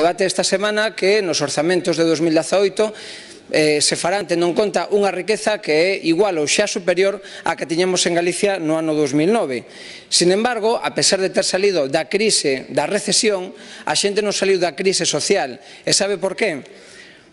debate esta semana que nos orzamentos de 2018 se farán tendo en conta unha riqueza que é igual ou xa superior á que tiñamos en Galicia no ano 2009. Sin embargo, a pesar de ter salido da crise, da recesión, a xente non saliu da crise social. E sabe por qué?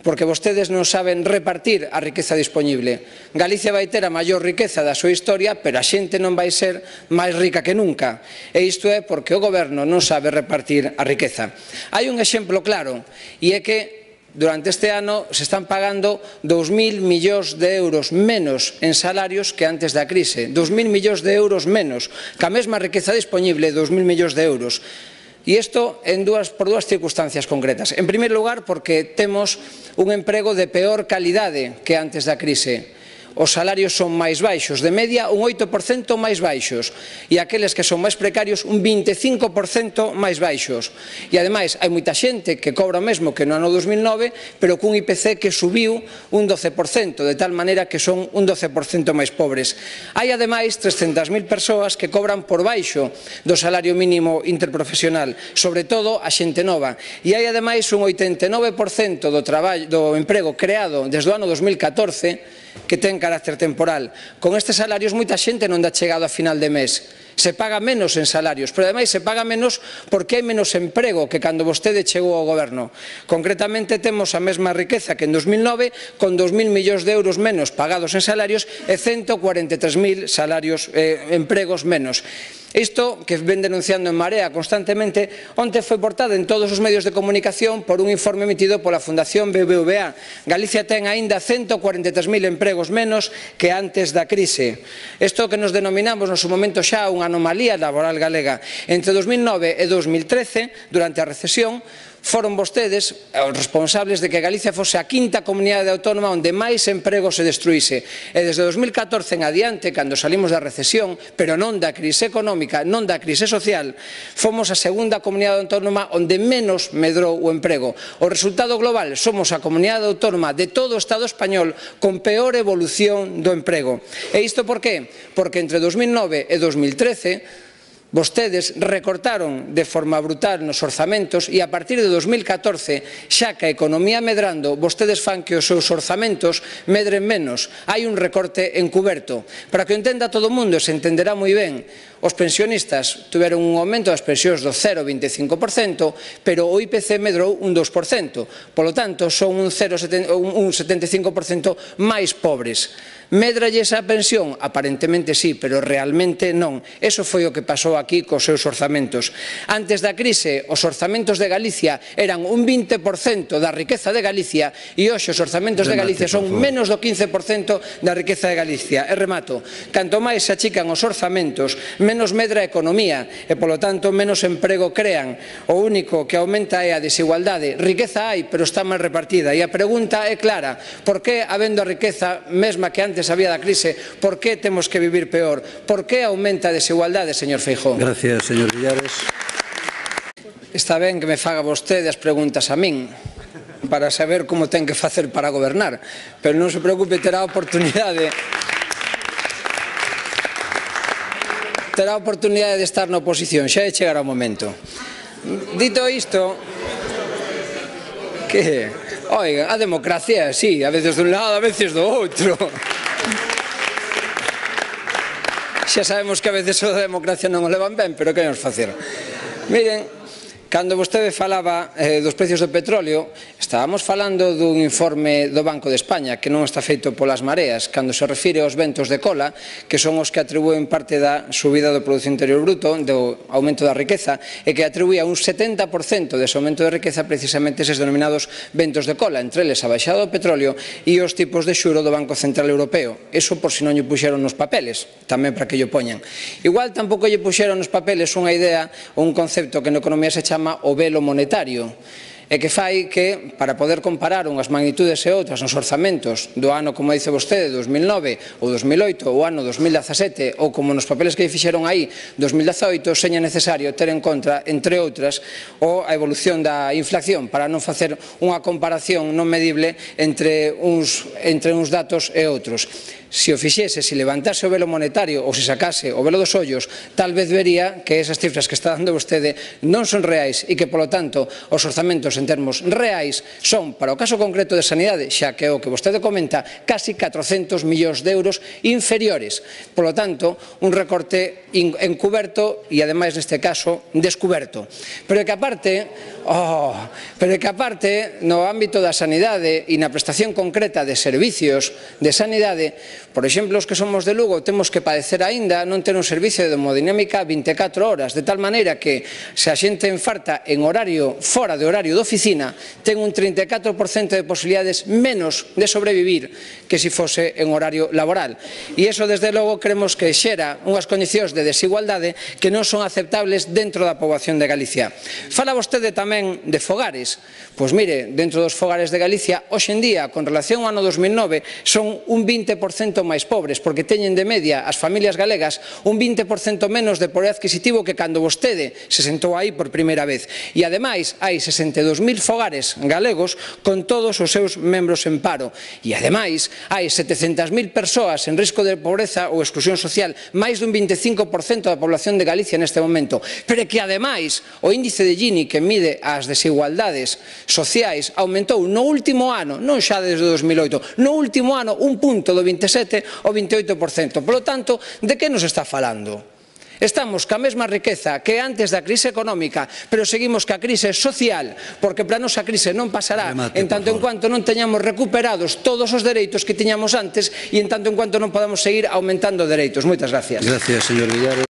Porque vostedes non saben repartir a riqueza dispoñible. Galicia vai ter a maior riqueza da súa historia, pero a xente non vai ser máis rica que nunca. E isto é porque o goberno non sabe repartir a riqueza. Hai un exemplo claro, e é que durante este ano se están pagando 2.000 millóns de euros menos en salarios que antes da crise. 2.000 millóns de euros menos, ca mesma riqueza dispoñible, 2.000 millóns de euros. E isto por dúas circunstancias concretas. En primeiro lugar, porque temos un emprego de peor calidade que antes da crise. Os salarios son máis baixos, de media un 8% máis baixos, e aqueles que son máis precarios un 25% máis baixos. E ademais hai moita xente que cobra o mesmo que no ano 2009, pero cun IPC que subiu un 12%, de tal maneira que son un 12% máis pobres. Hai ademais 300.000 persoas que cobran por baixo do salario mínimo interprofesional, sobre todo a xente nova. E hai ademais un 89% do emprego creado desde o ano 2014 que ten carácter temporal. Con estes salarios moita xente non dá chegado a final de mes. Se paga menos en salarios, pero ademais se paga menos porque hai menos emprego que cando vostede chegou ao goberno. Concretamente temos a mesma riqueza que en 2009, con 2.000 millóns de euros menos pagados en salarios e 143.000 empregos menos. Isto que ven denunciando en Marea constantemente, onte foi portada en todos os medios de comunicación por un informe emitido pola Fundación BBVA. Galicia ten aínda 143.000 empregos menos que antes da crise. Isto que nos denominamos no seu momento xa unha anomalía laboral galega. Entre 2009 e 2013, durante a recesión, foron vostedes os responsables de que Galicia fose a quinta comunidade autónoma onde máis emprego se destruíse. E desde 2014 en adiante, cando salimos da recesión, pero non da crise económica, non da crise social, fomos a segunda comunidade autónoma onde menos medrou o emprego. O resultado global, somos a comunidade autónoma de todo o Estado español con peor evolución do emprego. E isto por qué? Porque entre 2009 e 2013 vostedes recortaron de forma brutal nos orzamentos e a partir de 2014, xa que a economía medrando, vostedes fan que os seus orzamentos medren menos. Hai un recorte encuberto. Para que o entenda todo o mundo, se entenderá moi ben, os pensionistas tiveron un aumento das pensións do 0,25%, pero o IPC medrou un 2%. Polo tanto, son un 75% máis pobres. Médralles a pensión? Aparentemente sí, pero realmente non. Eso foi o que pasou aquí cos seus orzamentos. Antes da crise, os orzamentos de Galicia eran un 20% da riqueza de Galicia e hoxe os orzamentos de Galicia son menos do 15% da riqueza de Galicia. E remato, canto máis se achican os orzamentos, menos medra a economía e, polo tanto, menos emprego crean. O único que aumenta é a desigualdade. Riqueza hai, pero está mal repartida. E a pregunta é clara. Por que, habendo a riqueza mesma que antes había da crise, por que temos que vivir peor? Por que aumenta a desigualdade, señor Feijóo? Gracias, señor Villares. Está ben que me faga vostede as preguntas a min para saber como ten que facer para gobernar, pero non se preocupe, terá a oportunidade de estar na oposición, xa de chegar ao momento. Dito isto, que, oiga, a democracia, sí, a veces dun lado, a veces do outro. Xa sabemos que a veces o da democracia non o levan ben, pero que nos facer? Miren, cando vostede falaba dos precios do petróleo, estábamos falando dun informe do Banco de España que non está feito polas mareas, cando se refire aos ventos de cola, que son os que atribúen parte da subida do Produto Interior Bruto, do aumento da riqueza, e que atribuía un 70% dese aumento de riqueza precisamente eses denominados ventos de cola, entre eles a baixada do petróleo e os tipos de xuro do Banco Central Europeo. Eso por si non lle puxeron nos papeles, tamén para que lle poñan. Igual tampouco lle puxeron nos papeles unha idea ou un concepto que na economía se chama o velo monetario, e que fai que, para poder comparar unhas magnitudes e outras nos orzamentos do ano, como dice vostede, 2009 ou 2008 ou ano 2017, ou como nos papeles que fixeron aí 2018, seña necesario ter en conta, entre outras, a evolución da inflación, para non facer unha comparación non medible entre uns datos e outros. Se o fixese, se levantase o velo monetario ou se sacase o velo dos ollos, tal vez vería que esas cifras que está dando vostede non son reais e que, polo tanto, os orzamentos en termos reais son, para o caso concreto de sanidade, xa que é o que vostede comenta, casi 400 millóns de euros inferiores. Por lo tanto, un recorte encuberto e, ademais, neste caso, descuberto. Pero é que aparte, no ámbito da sanidade e na prestación concreta de servicios de sanidade, por exemplo, os que somos de Lugo temos que padecer aínda non ter un servicio de hemodinámica 24 horas, de tal maneira que se a xente enfarta en horario fora de horario de oficina, ten un 34% de posibilidades menos de sobrevivir que se fose en horario laboral. E iso, desde logo, creemos que xera unhas condicións de desigualdade que non son aceptables dentro da poboación de Galicia. Fala vostede tamén de fogares. Pois mire, dentro dos fogares de Galicia, hoxe en día, con relación ao ano 2009, son un 20% máis pobres, porque teñen de media as familias galegas un 20% menos de poder adquisitivo que cando vostede se sentou aí por primeira vez. E, ademais, hai 62.000 fogares galegos con todos os seus membros en paro. E, ademais, hai 700.000 persoas en risco de pobreza ou exclusión social, máis dun 25% da población de Galicia neste momento. Pero que, ademais, o índice de Gini, que mide as desigualdades sociais, aumentou no último ano, non xa desde 2008, no último ano un punto do 27 ao 28%. Por lo tanto, de que nos está falando? Estamos ca mesma riqueza que antes da crise económica, pero seguimos ca crise social, porque para a nosa crise non pasará en tanto en cuanto non teñamos recuperados todos os dereitos que tiñamos antes e en tanto en cuanto non podamos seguir aumentando dereitos. Moitas gracias. Gracias, señor Villares.